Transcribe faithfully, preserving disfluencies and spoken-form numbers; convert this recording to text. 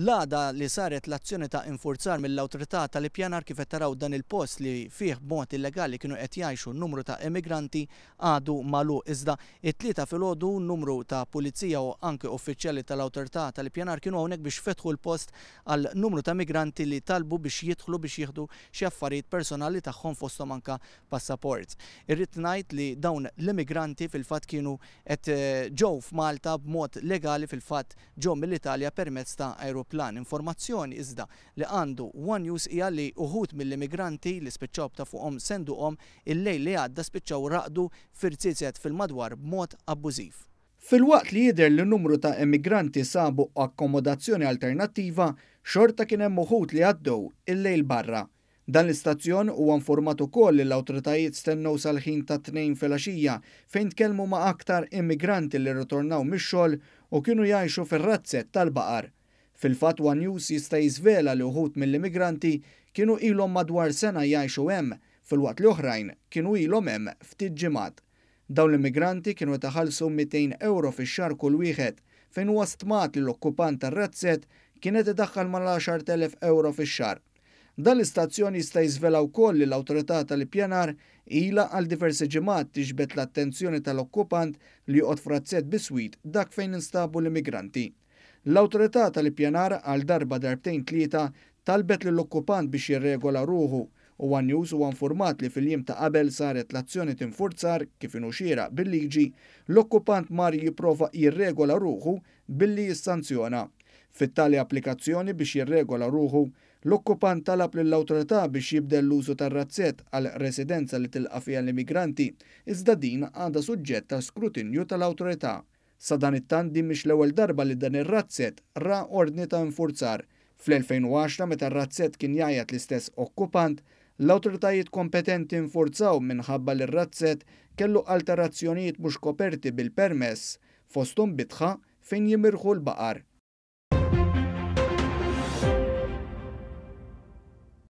L-għada li saret l-azzjoni ta' infurzar mill-Awtorità tal-Ippjanar, kif qed taraw, dan il-post li fih b'mod illegali kienu qed jgħixu numru ta' immigranti għadu magħluq. Iżda it-Tlieta filgħodu numru ta' pulizija u anke uffiċjali tal-Awtorità tal-Ippjanar kienu hawnhekk biex fetħu l-post għal numru ta' migranti li talbu biex jidħlu biex jieħdu xi affarijiet personali tagħhom, fosthom anke passaport. Irrid ngħid li dawn l-immigranti fil-fatt kienu qed ġew f'Malta b'mod legali, fil-fatt ġew mill-Italja permezz ta' aeroplan. Informazzjoni iżda li għandu One News hija li uħud mill-immigranti li spiċċaw b'ta' fuqhom senduqhom il-lejl li għadda spiċċaw raqdu f'irziezet fil-madwar b'mod abbużiv. Filwaqt li jidher li numru ta' immigranti sabu akkomodazzjoni alternattiva, xorta kien hemm uħud li għaddew il-lejl barra. Dan l-istazzjon huwa informat ukoll li l-awtoritajiet stennew sal-ħin ta' tnejn filgħaxija fejn tkellmu ma' aktar immigranti li rritornaw mix-xogħol u kienu jgħixu fir-razzett tal-baqar. Fil-fatt, One News jista' jiżvela li uħud mill-immigranti kienu ilhom madwar sena jgħixu hemm, filwaqt li oħrajn kienu ilhom hemm ftit ġimgħat. Dawn l-immigranti kienu iħallsu mitejn euro fix-xahar kull wieħed, fejn huwa stmat li l-okkupant tar-razzett kienet idaħħal mal-għaxart elef euro fix-xahar. Dan l-istazzjon jista' jiżvela wkoll li l-Awtorità tal-Ippjanar ilha għal diversi ġimgħat tiġbed l-attenzjoni tal-okkupant li joqgħod f'razzett biswit dak fejn instabu l-immigranti. L-Awtorità tal-Ippjanar għal darba, darbtejn, tlieta talbet lill-okkupant biex jirregola ruħu u One News huwa informat li fil-jiem ta' qabel saret l-azzjoni t'infurzar, kif inhu xieraq bil-liġi, l-okkupant mar jipprova jirregola ruħu billi jissanzjona. Fit-tali applikazzjoni biex jirregola ruħu, l-okkupant talab lill-awtorità biex jibdel l-użu tar-razzett għal residenza li tilqa' fiha l-immigranti, iżda din għadha suġġett ta' skrutinju tal-awtorità. Sadanittant, din mhix l-ewwel darba li dan ir-razzett ra ordni ta' infurzar. Fl-elfejn u għaxra, meta r-razzett kien jgħajjat l-istess okkupant, l-awtoritajiet kompetenti infurzaw minħabba li r-razzett kellu alterazzjonijiet mhux koperti bil-permess, fosthom bitħa fejn jimirħu l-baqar.